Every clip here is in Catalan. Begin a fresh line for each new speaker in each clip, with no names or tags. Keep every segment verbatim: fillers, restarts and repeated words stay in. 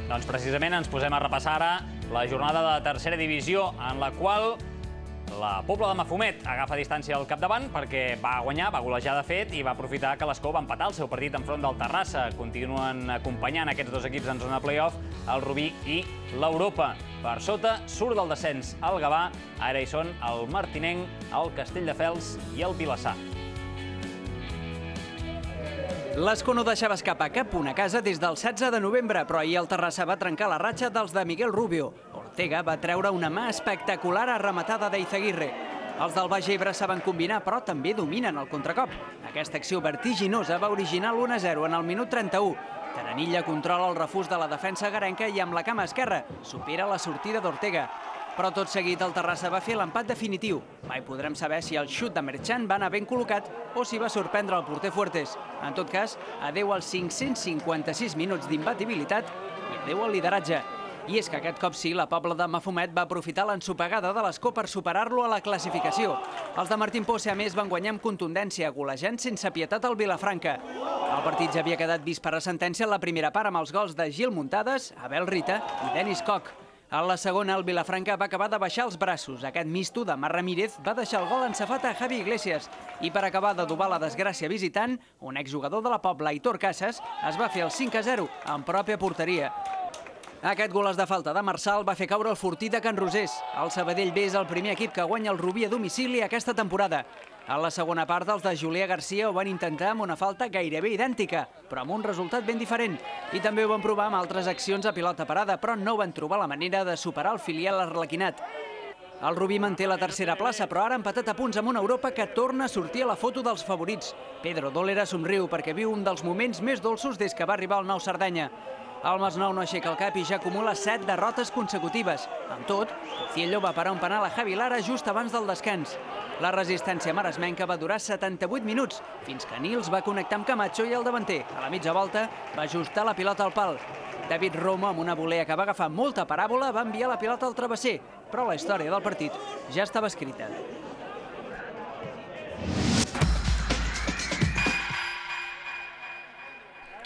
Doncs precisament ens posem a repassar ara la jornada de tercera divisió, en la qual la Pobla de Mafumet agafa distància al capdavant perquè va guanyar, va golejar de fet i va aprofitar que l'Escó va empatar el seu partit enfront del Terrassa. Continuen acompanyant aquests dos equips en zona play-off, el Rubí i l'Europa. Per sota surt del descens el Gavà, ara hi són el Martinenc, el Castelldefels i el Vilassar.
L'Escó no deixava escapar cap punt a casa des del setze de novembre, però ahir el Terrassa va trencar la ratxa dels de Miguel Rubio. Ortega va treure una mà espectacular arrematada d'Eizaguirre. Els del Baix Ebre saben combinar, però també dominen el contracop. Aquesta acció vertiginosa va originar l'u a zero en el minut trenta-u. Taranilla controla el refús de la defensa garenca i amb la cama esquerra supera la sortida d'Ortega. Però tot seguit el Terrassa va fer l'empat definitiu. Mai podrem saber si el xut de Merchant va anar ben col·locat o si va sorprendre el porter Fuertes. En tot cas, adeu als cinc-cents cinquanta-sis minuts d'imbatibilitat i adeu al lideratge. I és que aquest cop sí, la Pobla de Mafumet va aprofitar l'ensopegada de l'Escó per superar-lo a la classificació. Els de Martín Pose, a més, van guanyar amb contundència, golejant sense pietat al Vilafranca. El partit ja havia quedat vist per a sentència en la primera part amb els gols de Gil Muntades, Abel Rita i Denis Koch. A la segona, el Vilafranca va acabar de baixar els braços. Aquest misto de Mar Ramírez va deixar el gol encefat a Javi Iglesias. I per acabar d'adobar la desgràcia visitant, un exjugador de la Pobla, Aitor Casas, es va fer el cinc a zero en pròpia porteria. Aquest gol de falta de Marçal va fer caure el Fortí de Can Rosés. El Sabadell B és el primer equip que guanya el Rubí a domicili aquesta temporada. A la segona part, els de Julià Garcia ho van intentar amb una falta gairebé idèntica, però amb un resultat ben diferent. I també ho van provar amb altres accions a pilota parada, però no van trobar la manera de superar el filial arlequinat. El Rubí manté la tercera plaça, però ara ha empatat a punts amb una Europa que torna a sortir a la foto dels favorits. Pedro Dólera somriu perquè viu un dels moments més dolços des que va arribar al Nou Cerdanya. El Masnou no aixeca el cap i ja acumula set derrotes consecutives. Amb tot, Ciello va parar un penal a Javi Lara just abans del descans. La resistència maresmenca va durar setanta-vuit minuts, fins que Nils va connectar amb Camacho i el davanter, a la mitja volta, va ajustar la pilota al pal. David Romo, amb una volea que va agafar molta paràbola, va enviar la pilota al travesser, però la història del partit ja estava escrita.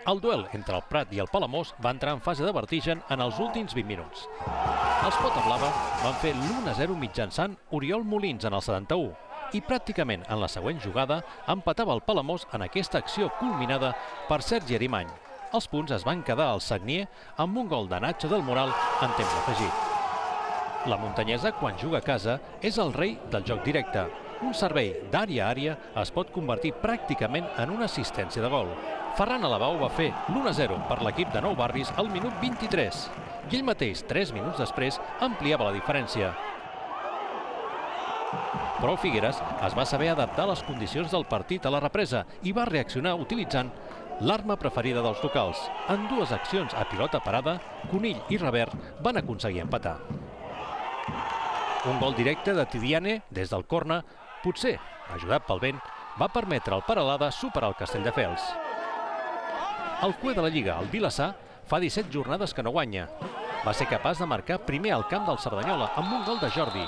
El duel entre el Prat i el Palamós va entrar en fase de vertigen en els últims vint minuts. Els Pota Blava van fer l'u a zero mitjançant Oriol Molins en el setanta-u i pràcticament en la següent jugada empatava el Palamós en aquesta acció culminada per Sergi Arimany. Els punts es van quedar al Sagnier amb un gol de Nacho del Moral en temps afegit. La muntanyesa, quan juga a casa, és el rei del joc directe. Un servei d'àrea a àrea es pot convertir pràcticament en una assistència de gol. Ferran Alabau va fer l'u a zero per l'equip de Nou Barris al minut vint-i-tres i ell mateix, tres minuts després, ampliava la diferència. Però Figueres es va saber adaptar a les condicions del partit a la represa i va reaccionar utilitzant l'arma preferida dels locals. En dues accions a pilota parada, Conill i Revert van aconseguir empatar. Un gol directe de Tidiane des del corna, potser, ajudat pel vent, va permetre al Peralada superar el Castelldefels. El cué de la Lliga, el Vilassar, fa disset jornades que no guanya. Va ser capaç de marcar primer al camp del Cerdanyola amb un gol de Jordi.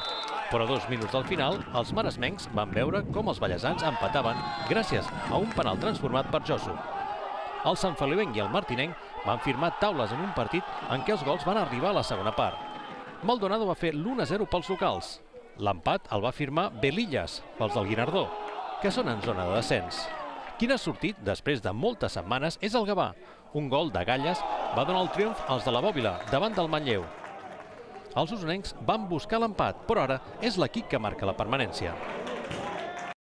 Però a dos minuts del final, els maresmencs van veure com els ballesans empataven gràcies a un penal transformat per Josu. El Sant Feliuenc i el Martinenc van firmar taules en un partit en què els gols van arribar a la segona part. Maldonado va fer l'u a zero pels locals. L'empat el va firmar Belillas, pels del Guinardó, que són en zona de descens. Qui n'ha sortit després de moltes setmanes és el Gavà. Un gol de Galles va donar el triomf als de la Bòbila davant del Manlleu. Els usonencs van buscar l'empat, però ara és l'equip que marca la permanència.